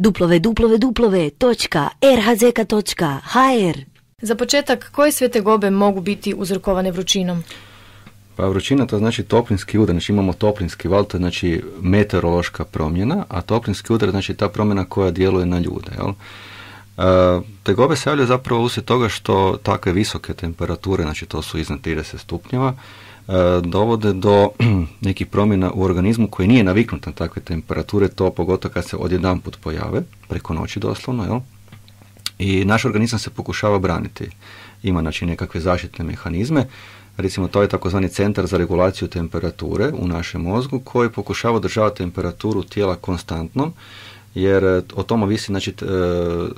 www.rhzk.hr. Za početak, koje sve tegobe mogu biti uzrokovane vrućinom? Pa vrućina to znači toplinski udar, znači imamo toplinski val, to je znači meteorološka promjena, a toplinski udar znači ta promjena koja djeluje na ljude. Jel? Tegobe se javljaju zapravo uslijed toga što takve visoke temperature, znači to su iznad 30 stupnjeva, dovode do nekih promjena u organizmu koji nije naviknut na takve temperature, to pogotovo kad se odjedanput pojave, preko noći doslovno, jel? I naš organizam se pokušava braniti. Ima znači nekakve zaštitne mehanizme, recimo to je takozvani centar za regulaciju temperature u našem mozgu koji pokušava održavati temperaturu tijela konstantnom, jer o tome ovisi znači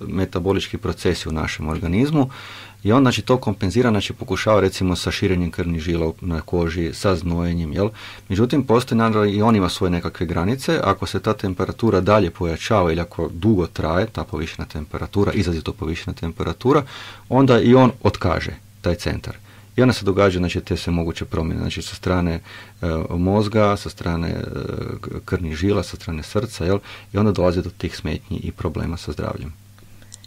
metabolički procesi u našem organizmu i on znači to kompenzira, znači pokušava recimo sa širenjem krvnih žila na koži, sa znojenjem, jel? Međutim, postoji naravno i on ima svoje nekakve granice, ako se ta temperatura dalje pojačava ili ako dugo traje ta povišena temperatura, izrazito povišena temperatura, onda i on otkaže taj centar. I onda se događa znači te sve moguće promjene, znači sa strane mozga, sa strane krvnih žila, sa strane srca, jel? I onda dolazi do tih smetnji i problema sa zdravljem.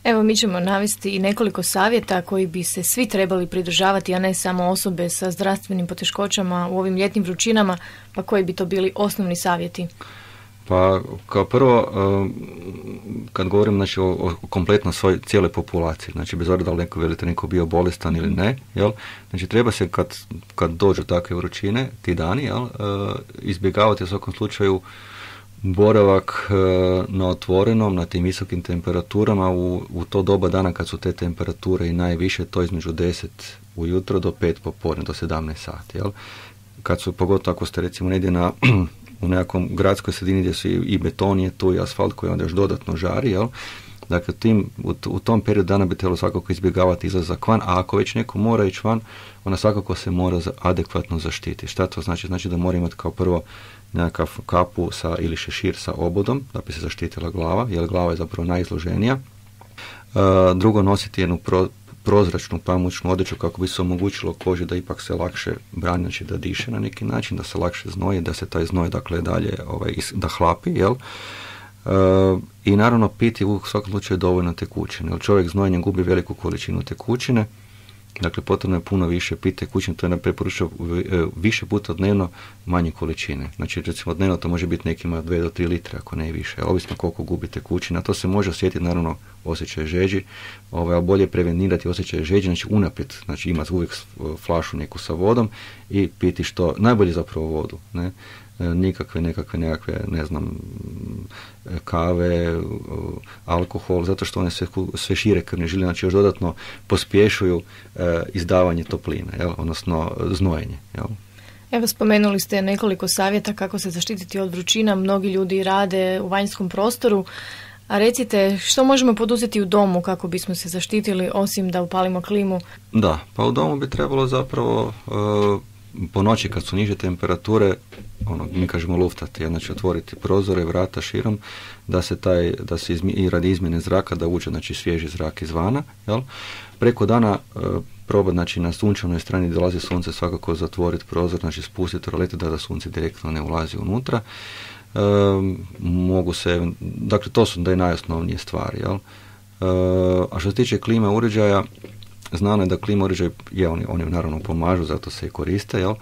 Evo, mi ćemo navesti i nekoliko savjeta koji bi se svi trebali pridržavati, a ne samo osobe sa zdravstvenim poteškoćama u ovim ljetnim vrućinama, pa koji bi to bili osnovni savjeti? Pa kao prvo, kad govorim znači, o kompletno svoj cijeloj populaciji, znači bez obzira da li neko bio bolestan ili ne, jel? Znači treba se kad dođu takve vrućine, ti dani, jel? Izbjegavati u svakom slučaju boravak na otvorenom, na tim visokim temperaturama u to doba dana kad su te temperature i najviše, to između 10 ujutro do 5 popodne, do 17 sati, jel? Kad su, pogotovo ako ste recimo negdje u nekakvom gradskoj sredini gdje su i beton je tu i asfalt koji onda još dodatno žari, jel? Dakle, u tom periodu dana bi trebalo svakako izbjegavati izlazak van, a ako već neko mora ići van, onda svakako se mora adekvatno zaštiti. Šta to znači? Znači da mora imati kao prvo nekakav kapu ili šešir sa obodom, da bi se zaštitila glava, jer glava je zapravo najizloženija. Drugo, nositi jednu prozračnu pamučnu odjeću kako bi se omogućilo koži da ipak se lakše brani, znači da diše na neki način, da se lakše znoji, da se taj znoj dakle dalje da hlapi, jel? I naravno piti u svakom slučaju dovoljno tekućine, jer čovjek znojenjem gubi veliku količinu tekućine, dakle potrebno je puno više piti tekućine, to je preporučeno više puta dnevno manje količine. Znači recimo dnevno to može biti nekima 2 do 3 litre ako ne i više, ovisno koliko gubi tekućina. To se može osjetiti naravno osjećaj žeđi, ali bolje je prevenirati osjećaj žeđi, znači unaprijed, znači imati uvijek flašu neku sa vodom i piti što najbolje zapravo vodu, ne? Nikakve ne znam, kave, alkohol, zato što one sve šire krvne žile, znači još dodatno pospješuju izdavanje topline, jel? Odnosno znojenje. Jel? Evo, spomenuli ste nekoliko savjeta kako se zaštititi od vrućina, mnogi ljudi rade u vanjskom prostoru, a recite što možemo poduzeti u domu kako bismo se zaštitili osim da upalimo klimu? Da, pa u domu bi trebalo zapravo po noći kad su niže temperature, mi kažemo luftati, znači otvoriti prozore, vrata širom, da se i radi izmjene zraka da uđe znači svježi zrak izvana, jel? Preko dana probati znači na sunčanoj strani gdje dolazi sunce svakako zatvoriti prozor, znači spustiti rolete da sunce direktno ne ulazi unutra. Mogu se, dakle to su da je najosnovnije stvari, jel? A što se tiče klima uređaja, znano je da klima uređaj, oni naravno pomažu, zato se i koriste, jel?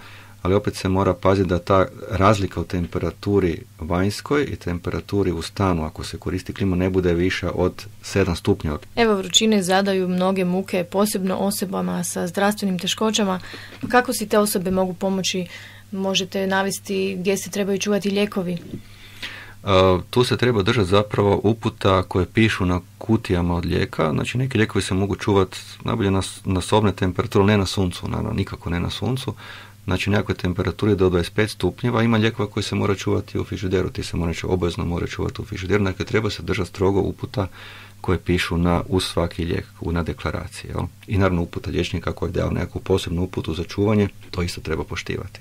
Ali opet se mora paziti da ta razlika u temperaturi vanjskoj i temperaturi u stanu, ako se koristi klima, ne bude viša od 7 stupnjeva. Evo, vrućine zadaju mnoge muke, posebno osobama sa zdravstvenim teškoćama. Kako si te osobe mogu pomoći? Možete navesti gdje se trebaju čuvati lijekovi? Tu se treba držati zapravo uputa koje pišu na kutijama od lijeka. Znači neki lijekovi se mogu čuvati najbolje na sobne temperature, ne na suncu, naravno nikako ne na suncu. Znači nekakve temperaturi do 25 stupnjeva, ima lijekova koji se mora čuvati u frižideru, ti se obavezno mora čuvati u frižideru, dakle treba se držati strogo uputa koje pišu uz svaki lijek na deklaraciji. Jel? I naravno uputa liječnika koji je dao nekakvu posebnu uputu za čuvanje, to isto treba poštivati.